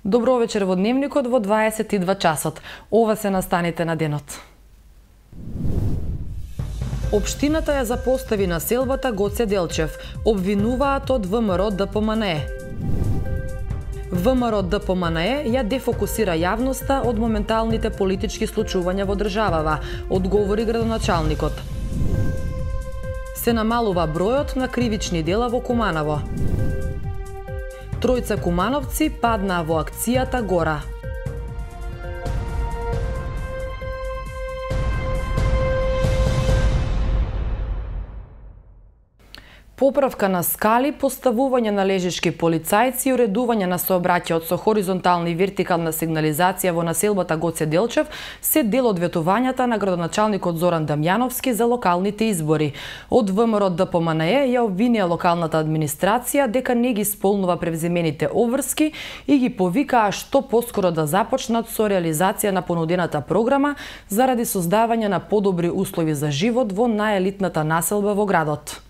Добро вечер во Дневникот во 22 часот. Ова се настаните на денот. Општината ја запостави населбата Гоце Делчев. Обвинуваат од ВМРО ДПМНЕ. ВМРО ДПМНЕ ја дефокусира јавноста од моменталните политички случувања во државава, одговори градоначалникот. Се намалува бројот на кривични дела во Куманово. Тројца кумановци паднаа во акцијата Гора. Поправка на скали, поставување на лежички полицајци и уредување на сообраќајот со хоризонтална и вертикална сигнализација во населбата Гоце Делчев се дел од ветувањата на градоначалникот Зоран Дамјановски за локалните избори. Од ВМРО ДПМНЕ ја обвинија локалната администрација дека не ги исполнува превземените обврски и ги повикаа што поскоро да започнат со реализација на понудената програма заради создавање на подобри услови за живот во најелитната населба во градот.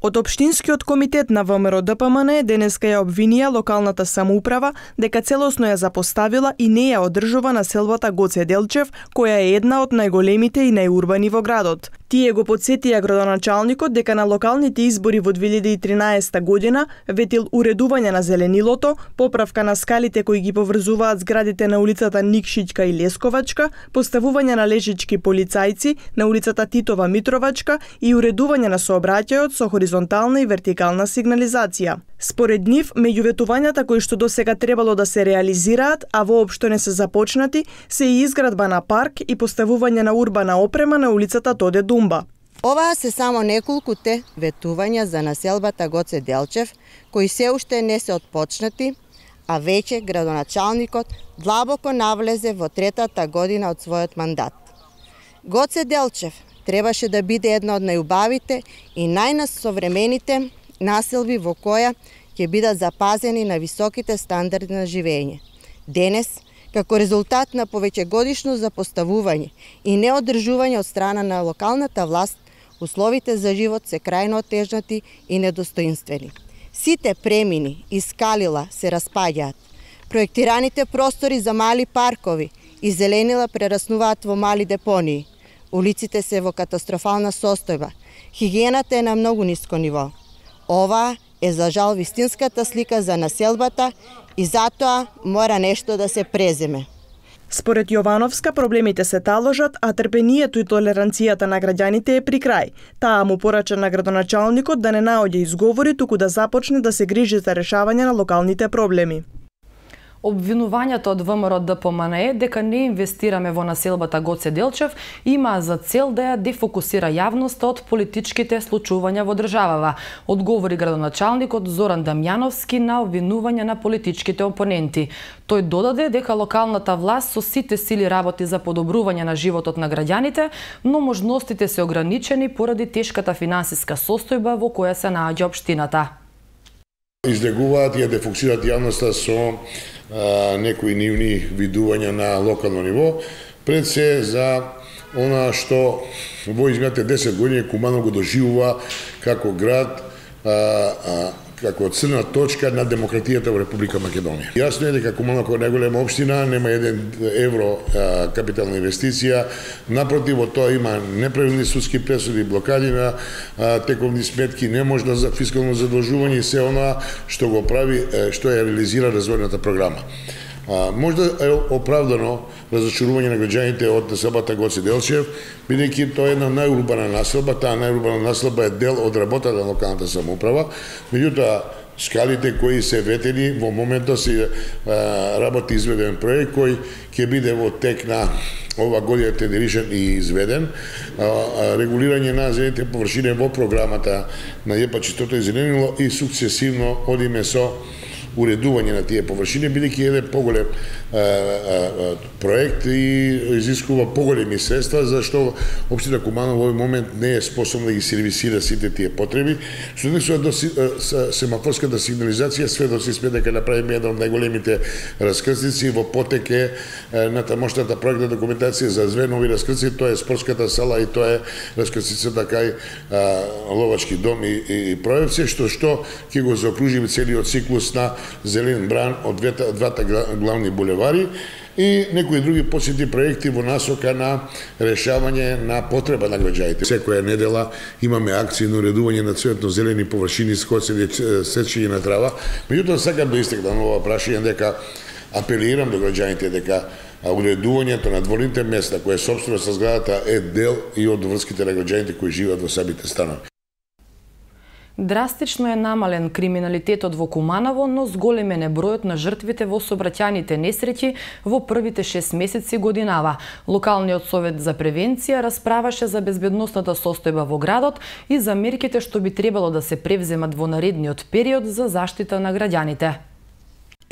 Од Општинскиот комитет на ВМРО ДПМНЕ денеска ја обвинија локалната самоуправа дека целосно ја запоставила и не ја одржува населбата Гоце Делчев, која е една од најголемите и најурбани во градот. Тие го потсетија градоначалникот дека на локалните избори во 2013 година ветил уредување на зеленилото, поправка на скалите кои ги поврзуваат зградите на улицата Никшичка и Лесковачка, поставување на лежички полицајци на улицата Титова Митровачка и уредување на сообраќајот со хоризонтална и вертикална сигнализација. Според нив, меѓу ветувањата кои што досега требало да се реализираат, а воопшто не се започнати, се и изградба на парк и поставување на урбана опрема на улицата Тоде Думба. Оваа се само неколкуте ветувања за населбата Гоце Делчев, кои се уште не се отпочнати, а веќе градоначалникот длабоко навлезе во третата година од својот мандат. Гоце Делчев требаше да биде една од најубавите и најнасовремените населби во која ќе бидат запазени на високите стандарди на живење. Денес, како резултат на повеќегодишно запоставување и неодржување од страна на локалната власт, условите за живот се крајно отежнати и недостоинствени. Сите премини и скалила се распаѓаат. Проектираните простори за мали паркови и зеленила прераснуваат во мали депонии. Улиците се во катастрофална состојба. Хигиената е на многу ниско ниво. Ова е за жал вистинската слика за населбата и затоа мора нешто да се преземе. Според Јовановска, проблемите се таложат, а трпението и толеранцијата на граѓаните е при крај. Таа му порача на градоначалникот да не наоѓа изговори, туку да започне да се грижи за решавање на локалните проблеми. Обвинувањето од ВМРО ДПМНЕ дека не инвестираме во населбата Гоце Делчев има за цел да ја дефокусира јавноста од политичките случувања во државава, одговори градоначалникот Зоран Дамјановски на обвинување на политичките опоненти. Тој додаде дека локалната власт со сите сили работи за подобрување на животот на граѓаните, но можностите се ограничени поради тешката финансиска состојба во која се наоѓа општината. Излегуваат и ја дефокусираат јавноста со некои нивни видувања на локално ниво, пред се за она што во изминатите 10 години Куманово го доживува како град, како црна точка на демократијата во Република Македонија. Јасно е дека Куманово како најголема општина нема 1 евро капитална инвестиција, напротив од тоа има неправилни судски пресуди, блокади на тековни сметки, неможност за фискално задолжување и се она што го прави, што ја реализира развојната програма. Можда е оправдано разочарување на граѓаните од населбата Гоце Делчев, бидејќи тоа е една најурбана населба, таа најурбана населба е дел од работата на локалната самоуправа, меѓутоа скалите кои се ветени во моментот се работи изведен проект кој ќе биде во тек на ова година тендеришен и изведен, регулирање на зелените површини во програмата на ЈП-4 и зеленило и сукцесивно одиме со уредување на тие површини, бидејќи еден поголем проект и изискува поголеми средства, зашто општина Куманово во овој момент не е способна да ги сервисира сите тие потреби. Што однесува до семафорската сигнализација, сведоци сме дека направиме една од најголемите раскрстици во потек е натамошната проектна документација за две нови раскрстици, тоа е спортската сала и тоа е раскрстицата кај Ловачки дом и Проевци, што ќе го заокружи целиот циклус на зелен бран од двата главни булевари и некои други посети проекти во насока на решавање на потреба на граѓаните. Секоја недела имаме акции на уредување на цветно-зелени површини, скоцење, сечење на трава. Меѓутоа, сакам да истакнам ова прашање дека апелирам до граѓаните дека уредувањето на дворните места, која е собственост на зградата, е дел и од врските на граѓаните кои живеат во самите станови. Драстично е намален криминалитетот во Куманово, но зголемен е бројот на жртвите во сообраќајните несреќи во првите 6 месеци годинава. Локалниот совет за превенција расправаше за безбедносната состојба во градот и за мерките што би требало да се превземат во наредниот период за заштита на граѓаните.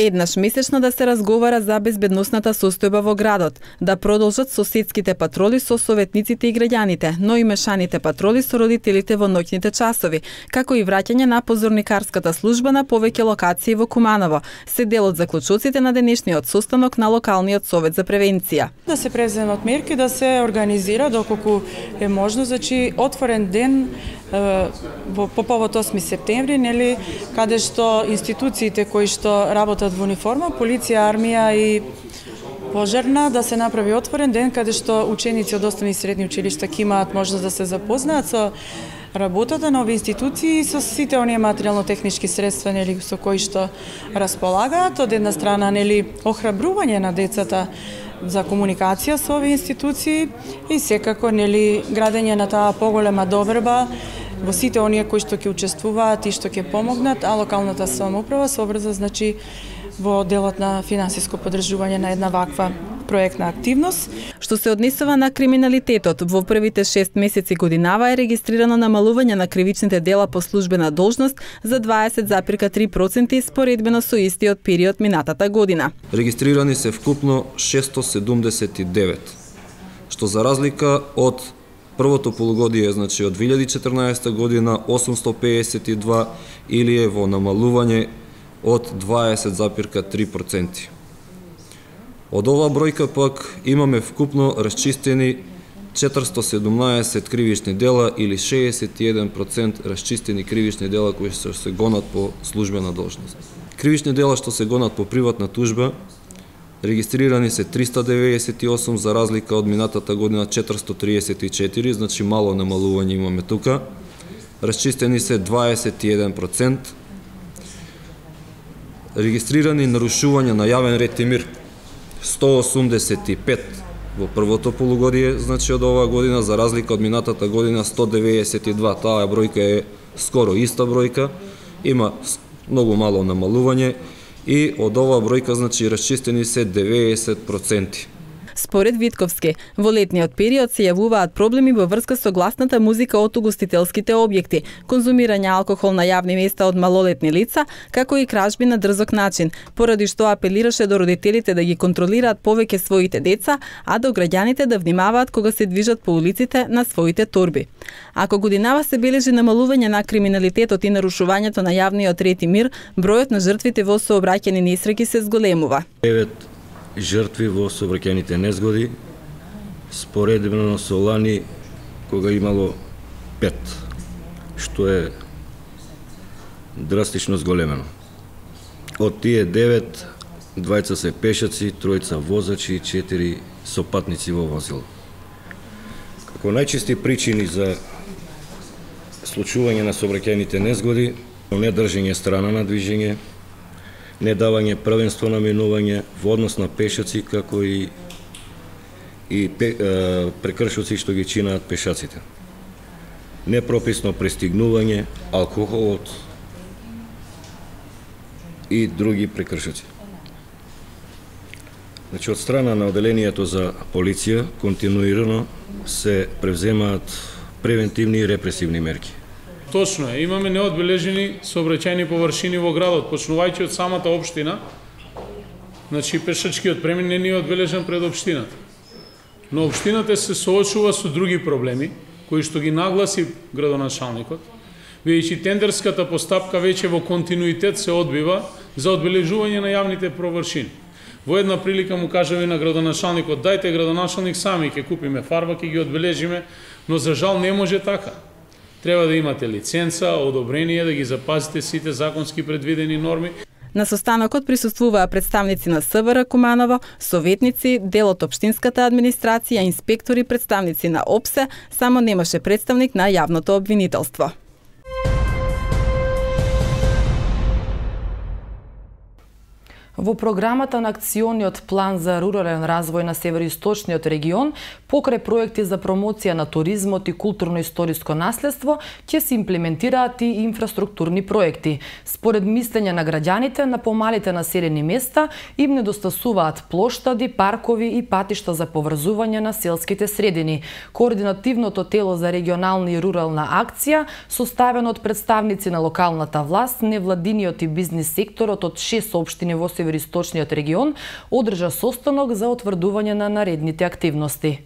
Еднаш месечно да се разговара за безбедносната состојба во градот, да продолжат соседските патроли со советниците и граѓаните, но и мешаните патроли со родителите во ноќните часови, како и враќање на позорникарската служба на повеќе локации во Куманово, се дел од заклучоците на денешниот состанок на локалниот совет за превенција. Да се преземат мерки, да се организира доколку е можно, значи отворен ден по повод 8 септември, нели, каде што институциите кои што работат во униформа, полиција, армија и пожарна, да се направи отворен ден каде што ученици од основни и средни училишта ќе имаат можност да се запознаат со работата на овие институции и со сите оние материјално-технички средства, нели, со кои што располагаат. Од една страна, нели, охрабрување на децата за комуникација со овие институции и секако, нели, градење на таа поголема доверба во сите оние кои што ќе учествуваат и што ќе помогнат, а локалната самоуправа се обрза, значи, во делот на финансиско поддржување на една ваква проектна активност. Што се однесува на криминалитетот, во првите 6 месеци годинава е регистрирано намалување на кривичните дела по службена должност за 20,3% споредбено со истиот период минатата година. Регистрирани се вкупно 679, што за разлика од првото полугодие, значи од 2014 година 852 или е во намалување од 20,3%. Од ова бројка пак имаме вкупно расчистени 417 кривични дела или 61% расчистени кривични дела кои што се гонат по службена должност. Кривични дела што се гонат по приватна тужба регистрирани се 398 за разлика од минатата година 434, значи мало намалување имаме тука. Расчистени се 21%. Регистрирани нарушувања на јавен ред и мир 185 во првото полугодие, значи од оваа година, за разлика од минатата година 192. Таа бројка е скоро иста бројка, има многу мало намалување и од оваа бројка, значи, расчистени се 90%. Според Витковски, во летниот период се јавуваат проблеми во врска со гласната музика од угостителските објекти, конзумирање алкохол на јавни места од малолетни лица, како и кражби на дрзок начин, поради што апелираше до родителите да ги контролираат повеќе своите деца, а до граѓаните да внимаваат кога се движат по улиците на своите торби. Ако годинава се бележи намалување на криминалитетот и нарушувањето на јавниот ред и мир, бројот на жртвите во сообраќајни несреќи се зголемува. Жртви во сообраќајните незгоди, споредбено со лани кога имало 5, што е драстично зголемено. Од тие 9, двајца се пешаци, тројца возачи и 4 сопатници во возило. Како најчести причини за случување на сообраќајните незгоди, недржење страна на движење, не давање првенство на минување во однос на пешаци, како и прекршоци што ги чинаат пешаците. Непрописно пристигнување, алкохолот и други прекршоци. Значи, од страна на оделението за полиција континуирано се превземаат превентивни и репресивни мерки. Точно е, имаме неодбележени сообраќајни површини во градот, почнувајќи од самата општина. Значи, пешачкиот премин не е одбележен пред општината. Но општината се соочува со други проблеми, кои што ги нагласи градоначалникот, бидејќи тендерската постапка веќе во континуитет се одбива за одбележување на јавните површини. Во една прилика му кажа на градоначалникот, дајте градоначалник сами, ќе купиме фарба, ќе ги одбележиме, но за жал не може така. Треба да имате лиценца, одобрение, да ги запазите сите законски предвидени норми. На состанокот присуствуваа представници на СВР Куманово, советници, дел од општинската администрација, инспектори, представници на ОПСЕ, само немаше представник на јавното обвинителство. Во програмата на акциониот план за рурален развој на североисточниот регион, покрај проекти за промоција на туризмот и културно-историско наследство, ќе се имплементираат и инфраструктурни проекти. Според мислење на граѓаните, на помалите населени места им недостасуваат плоштади, паркови и патишта за поврзување на селските средини. Координативното тело за регионална и рурална акција, составено од представници на локалната власт, невладиниот и бизнис секторот од 6 општини во североисточниот регион, одржа состанок за утврдување на наредните активности.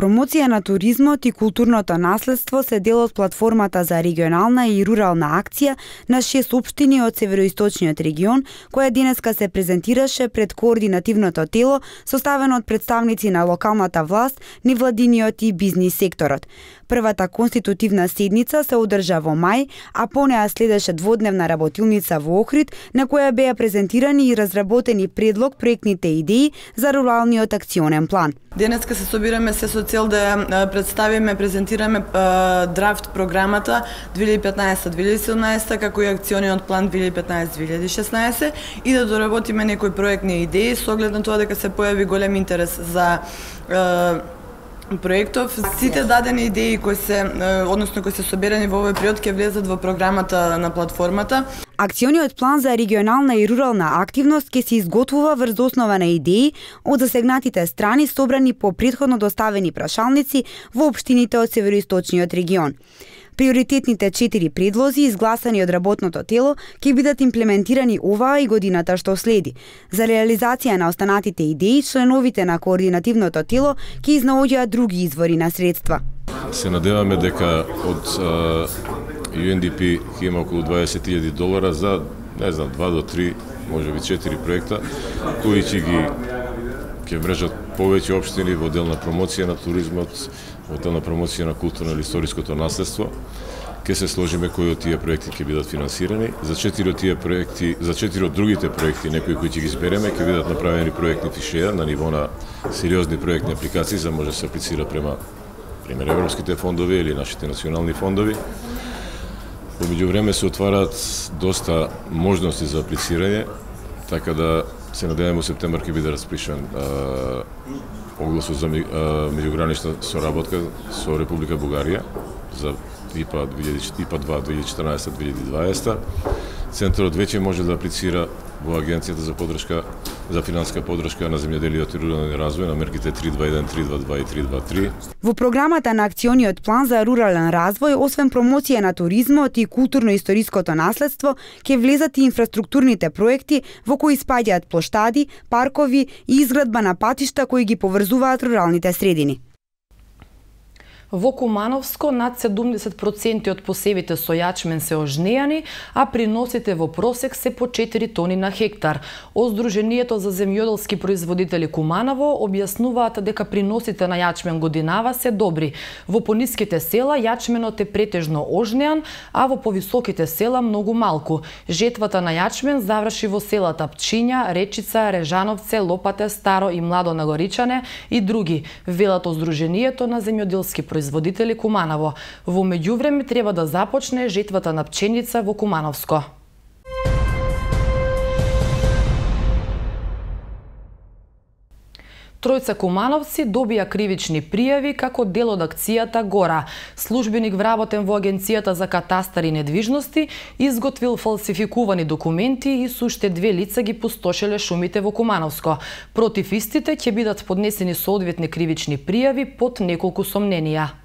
Промоција на туризмот и културното наследство се дел од платформата за регионална и рурална акција на 6 општини од североисточниот регион, која денеска се презентираше пред координативното тело, составено од представници на локалната власт, невладиниот и бизнис секторот. Првата конститутивна седница се одржа во мај, а по неа следеше дводневна работилница во Охрид, на која беа презентирани и разработени предлог проектните идеи за руралниот акционен план. Денеска се собираме се со цел да представиме, презентираме драфт програмата 2015-2017, како и акциониот план 2015-2016 и да доработиме некои проектни идеи со оглед на тоа дека се појави голем интерес за проектов. Сите дадени идеи кои се соберани во овој период ќе влезат во програмата на платформата. Акциониот план за регионална и рурална активност ќе се изготвува врз основа на идеи од засегнатите страни собрани по претходно доставени прашалници во општините од североисточниот регион. Приоритетните 4 предлози, изгласани од работното тело, ќе бидат имплементирани оваа и годината што следи. За реализација на останатите идеи, членовите на координативното тело ќе изнаоѓаат други извори на средства. Се надеваме дека од UNDP ќе има околу $20,000 за, не знам, 2 до 3, можеби 4 проекта, кои ќе мрежат повеќе општини во дел на промоција на туризмот, во дел на промоција на културно или историското наследство. Ќе се сложиме кои од тие проекти ќе бидат финансирани. За 4 од тие проекти, за 4 од другите проекти, некои кои ќе ги избереме, ќе бидат направени проектни фишеја на ниво на сериозни проектни апликации за може да се аплицира према пример европските фондови или нашите национални фондови. Во меѓувреме се отвараат доста можности за аплицирање, така да се надеваме во септември ќе биде распишан огласот за меѓугранична соработка со Република Бугарија за ИПА 2 2014-2020. Центарот веќе може да аплицира во Агенцијата за поддршка за финансиска поддршка на земјоделието и рурален развој на мерките 321, 322 и 323. Во програмата на акциониот план за рурален развој, освен промоција на туризмот и културно-историското наследство, ќе влезат и инфраструктурните проекти во кои спаѓаат плоштади, паркови и изградба на патишта кои ги поврзуваат руралните средини. Во Кумановско над 70% од посевите со јачмен се ожнејани, а приносите во просек се по 4 тони на хектар. Од Сдруженијето за земјоделски производители Куманово објаснуваат дека приносите на јачмен годинава се добри. Во пониските села јачменот е претежно ожнеан, а во повисоките села многу малку. Жетвата на јачмен заврши во селата Пчиња, Речица, Режановце, Лопате, Старо и Младо Нагоричане и други, велат од Сдруженијето на земјоделски производители Куманово. Во меѓувреме треба да започне жетвата на пченица во Кумановско. Тројца кумановци добија кривични пријави како дел од акцијата Гора. Службеник вработен во Агенцијата за катастар и недвижности изготвил фалсификувани документи и со уште 2 лица ги пустошеле шумите во Кумановско. Против истите ќе бидат поднесени соодветни кривични пријави под неколку сомненија.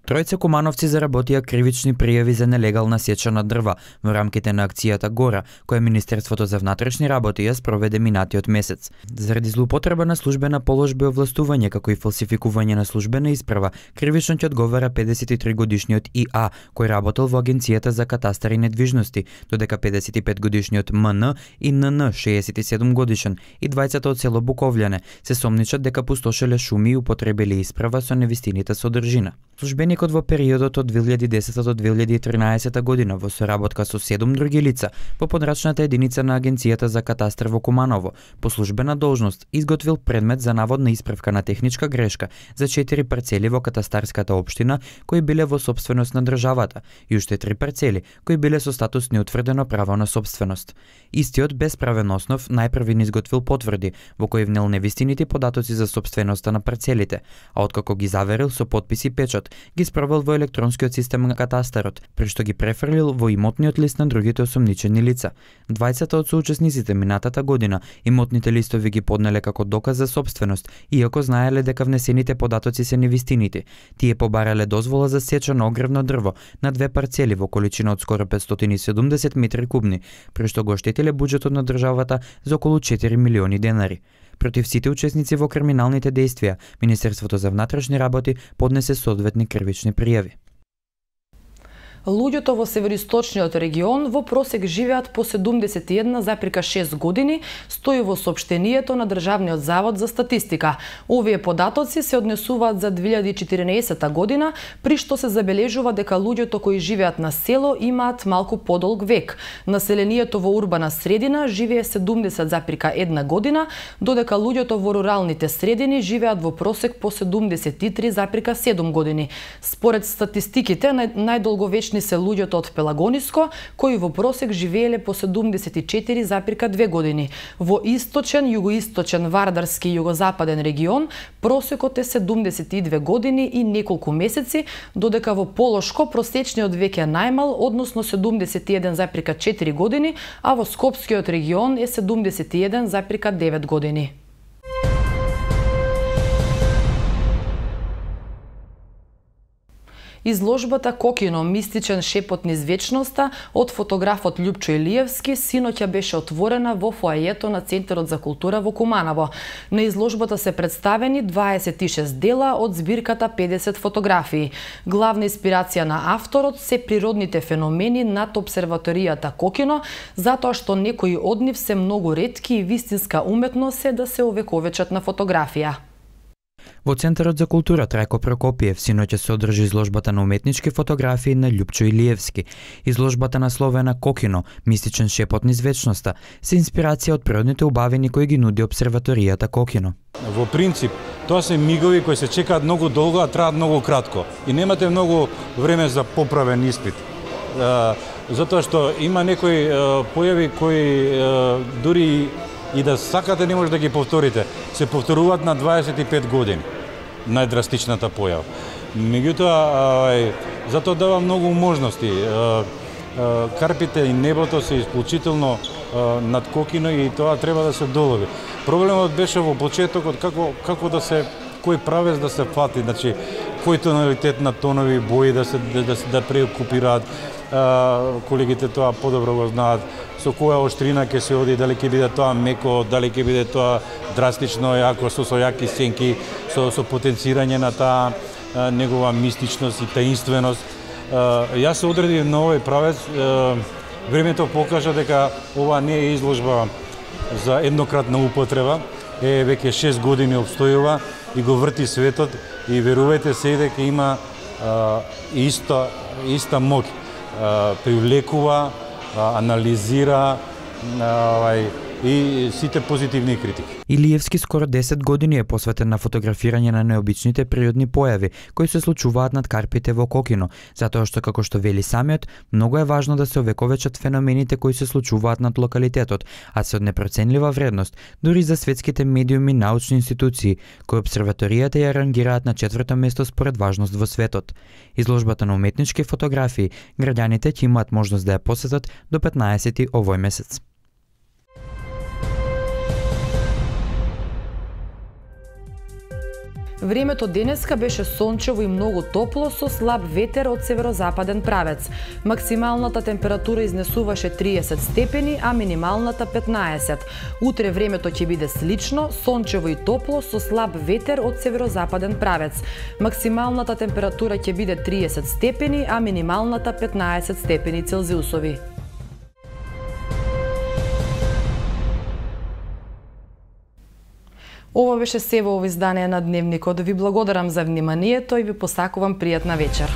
Тројца кумановци заработија кривични пријави за нелегална сеча на дрва во рамките на акцијата Гора, која Министерството за внатрешни работи ја спроведе минатиот месец. Заради злоупотреба на службена положба и овластување, како и фалсификување на службена исправа, кривично ќе одговара 53 годишниот ИА, кој работел во Агенцијата за катастар и недвижности, додека 55 годишниот МН и НН, 67 годишен, и двајцата од село Буковљане се сомничат дека пустошеле шуми и употребиле исправа со невистинита содржина. Службеник Проекот во периодот од 2010 до 2013 година во соработка со 7 други лица по подрачната единица на Агенцијата за катастар во Куманово по службена должност изготвил предмет за наводна исправка на техничка грешка за 4 парцели во катастарската општина кои биле во сопственост на државата и уште 3 парцели кои биле со статус неутврдено право на сопственост. Истиот без правен основ најпрви изготвил потврди во кои внел невистините податоци за сопственоста на парцелите, а откако ги заверил со подпис и печат, ги спровел во електронскиот систем на катастарот, при што ги префрлил во имотниот лист на другите осомничени лица. Двајцата од соучесниците минатата година имотните листови ги поднеле како доказ за сопственост, иако знаеле дека внесените податоци се невистините. Тие побарале дозвола за сеча на огревно дрво на 2 парцели во количина од скоро 570 метри кубни, при што го оштетиле буџетот на државата за околу 4 милиони денари. Против сите учесници во криминалните дејствија, Министерството за внатрешни работи поднесе соодветни кривични пријави. Луѓето во североисточниот регион во просек живеат по 71,6 години, стои во соопштението на Државниот завод за статистика. Овие податоци се однесуваат за 2014 година, при што се забележува дека луѓето кои живеат на село имаат малку подолг век. Населението во урбана средина живее 70,1 година, додека луѓето во руралните средини живеат во просек по 73,7 години. Според статистиките, најдолговечни се луѓето од Пелагониско, кои во просек живееле по 74,2 години. Во источен, југоисточен, вардарски и југозападен регион просекот е 72 години и неколку месеци, додека во Полошко просечниот век е најмал, односно 71,4 години, а во Скопскиот регион е 71,9 години. Изложбата Кокино, мистичен шепот низ вечноста од фотографот Љупчо Илиевски синоќа беше отворена во фоајето на Центарот за култура во Куманово. На изложбата се представени 26 дела од збирката 50 фотографии. Главна инспирација на авторот се природните феномени над обсерваторијата Кокино, затоа што некои од нив се многу ретки и вистинска уметност е да се овековечат на фотографија. Во Центарот за култура Трајко Прокопиев синоќа се одржи изложбата на уметнички фотографии на Љупчо Илиевски. Изложбата насловена Кокино, мистичен шепот низ вечноста, се инспирација од природните убавини кои ги нуди обсерваторијата Кокино. Во принцип, тоа се мигови кои се чекаат многу долго, а траат многу кратко. И немате многу време за поправен испит. Затоа што има некои појави кои дури и да сакате не може да ги повторите. Се повторуваат на 25 години. Најдрастичната појава. Меѓутоа, затоа дава многу можности. Карпите и небото се исклучително над Кокино и тоа треба да се долови. Проблемот беше во почетокот како да се кој правец да се фати, значи кој тоналитет на тонови бои да преокупираат. Колегите тоа подобро го знаат. Со којаоштрина ќе се оди, дали ќе биде тоа меко, дали ќе биде тоа драстично, јако со јаки сенки, со потенцирање на таа негова мистичност и таинственост. Јас се одредив на овој правец. Времето покажа дека ова не е изложба за еднократна употреба. Веќе 6 години обстојува и го врти светот и верувајте се дека има иста моќ. Привлекува, анализира и сите позитивни критики. Илиевски скоро 10 години е посветен на фотографирање на необичните природни појави кои се случуваат над карпите во Кокино, затоа што како што вели самиот, многу е важно да се овековечат феномените кои се случуваат над локалитетот, а се од непроценлива вредност дури за светските медиуми и научни институции, кои обсерваторијата ја рангираат на 4-то место според важност во светот. Изложбата на уметнички фотографии граѓаните ќе имаат можност да ја посетат до 15 овој месец. Времето денеска беше сончево и многу топло со слаб ветер од северозападен правец. Максималната температура изнесуваше 30 степени, а минималната 15. Утре времето ќе биде слично, сончево и топло со слаб ветер од северозападен правец. Максималната температура ќе биде 30 степени, а минималната 15 степени Целзиусови. Ова беше се во ово издание на Дневникот. Ви благодарам за вниманието и ви посакувам пријатна вечер.